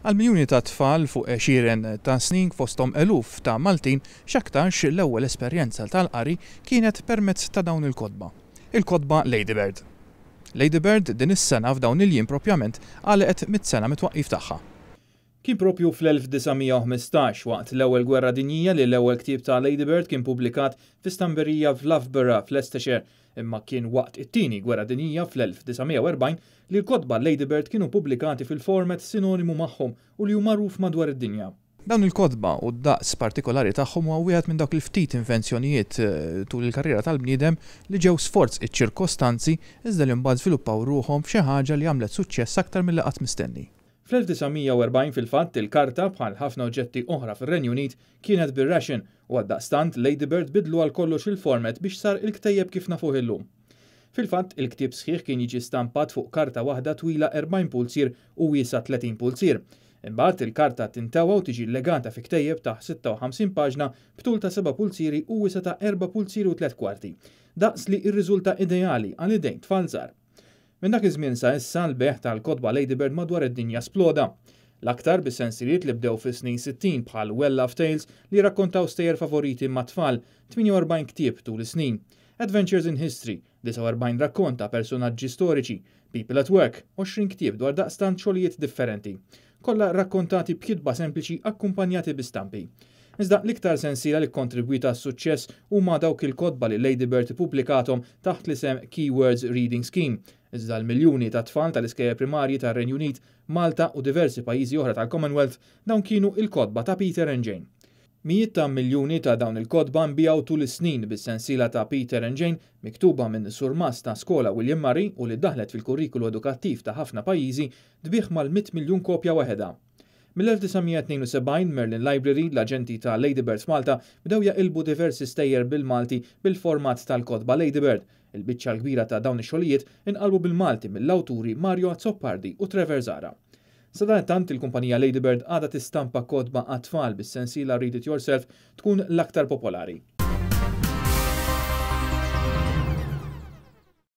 Għal miljuni ta' tfal fuq għexieren ta' snin, fosthom eluf ta' Maltin, x'aktarx l-ewwel esperjenza tal-qari kienet permezz ta' dawn il-kotba. Il-kotba Ladybird. Ladybird din is-sena f'dawn il-jiem propjament għalqet 100 sena mit-twaqqif tagħha. Kien propju fl-1915, waqt l-Ewwel Gwerra Dinjija, li l-ewwel ktieb ta' Ladybird kien pubblikat fi stamperija f'Loughborough f'Leicestershire, imma kien waqt it-Tieni Gwerra Dinjija fl-1940 li l-kotba Ladybird kienu pubblikati fil-format sinonimu magħhom u li hu magħruf madwar id-dinja. Dawn il-kotba u d-daqs partikolari tagħhom huwa wieħed minn dawk il-ftit invenzjonijiet tul il-karriera tal-bniedem li ġew sforz iċ-ċirkostanzi iżda li mbagħad żviluppaw ruħhom f'xi ħaġa li għamlet suċċess aktar milli qatt mistenni. Fl-1940 fil-fatt il-karta, bħal ħafna oġġetti oħra fir-Renju Unit, kienet bir-ration u għaldaqstant Ladybird bidlu għal kollox il-format biex sar il-ktejjeb kif nafuh illum. Fil-fatt il-ktieb sħiħ kien jiġi stampat fuq karta waħda twila 40 pulzier u wiesgħa 30 pulzier. Imbagħad il-karta tintewa u tiġi llegata fi ktejjeb ta' 56 paġna b'tul ta' 7 pulzieri u wisa' ta' 4 pulzieri u tliet kwarti. Daqs li rriżulta ideali għal idejn tfal żgħar. Minn dak iż-żmien sa issa l-bejgħ tal-kotba Ladybird madwar id-dinja sploda. L-aktar bis-sensiliet li bdew fis-snin 60 bħal Well Loved Tales li rakkontaw stejjer favoriti mat-tfal, 48 ktieb tul is-snin. Adventures in History, 49 rakkont ta' personaġġi storiċi, People at Work, 20 ktieb dwar daqstant xogħlijiet differenti. Kollha rakkontati b'kitba sempliċi akkumpanjati bi stampi. Iżda l-iktar sensiela li kontribwita għas-suċċess huma dawk il-kotba li Ladybird ippubblikathom taħt l-isem Keywords Reading Scheme. Iżda l-miljuni ta' tfal tal-iskejjel primarji tar-Renju Unit, Malta u diversi pajjiżi oħra tal-Commonwealth, dawn kienu il-kotba ta' Peter and Jane. Mijiet ta' miljuni ta' dawn il-kotba nbiegħu tul is-snin, bis-sensiela ta' Peter and Jane, miktuba minn surmast ta' skola William Murray u li daħlet fil-kurrikulu edukattiv ta' ħafna pajjiżi, tbigħ mal-100 miljun kopja waħedha. Mill-1972 Merlin Library, l-aġenti ta' Ladybird f'Malta, bdew jaqilbu diversi stejjer bil-Malti bil-format tal-kotba Ladybird. Il-biċċa l-kbira ta' dawn ix-xogħlijiet inqalbu bil-Malti mill-awturi Mario Azzopardi u Trevor Zara. Sadanittant il-kumpanija Ladybird għadha tistampa kotba għat-tfal, bis-sensiela Read It Yourself tkun l-aktar popolari.